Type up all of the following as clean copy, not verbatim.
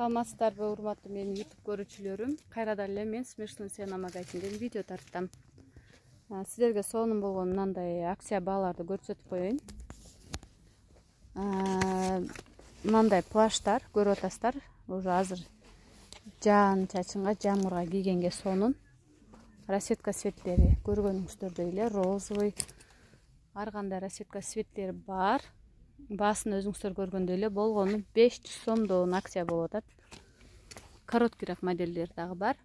Саламатсыздарбы, урматтуу менин YouTube көрүүчүлөрүм. Кайрадан эле мен Смешной цена магазинден видео тарттым. Сиздерге сонун болгон мындай акция бааларды көрсөтүп коеюн. Мындай плаштар көрүп атасыздар. Уже азыр жаан чачынга, жамгырга кийгенге сонун. Расцветка цветтери көргөнүңүздөрдөй эле розовый, ар кандай расцветка цветтери бар. Баасын өзүңүздөр көргөндөй эле болгону 500 сомдон акция болуп атат. Короткирээк модельдер дагы бар.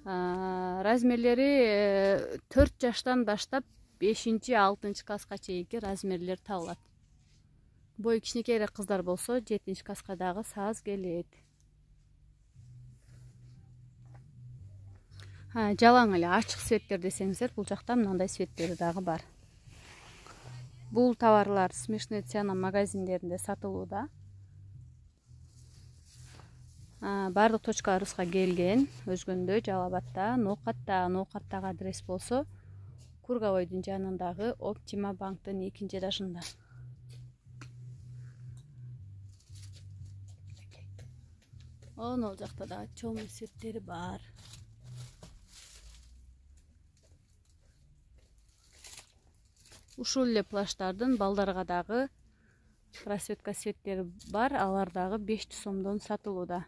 Размерлери 4 жаштан баштап 5-6 класска чейинки размерлер табылат. Бою кичинекейирээк кыздар болсо 7 класска дагы сааз келет. Жалаң эле ачык цветтер десеңиздер, бул жакта мындай цветтери дагы бар. Бул товарлар Смешной цена магазиндеринде сатылууда. Бардык точкаларыбызга келген. Өзгөндө, Жалал Абадта, Ноокаттагы адрес болсо, Кургабойдун жанындагы Оптима банктын 2 этажында. Ол жакта да чоң цветтери бар. Ушул эле плаштардын балдарга дагы расцветка цветтери бар, алар дагы 500 сомдон сатылууда.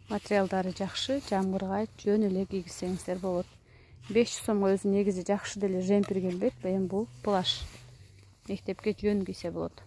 Материалдары жакшы, жамгырга жөн эле кийгизсеңиздер болот. 500 сомго өзү негизи жакшы деле жемпир келбейт, эми бул плаш. Мектепке жөн кийсе болот.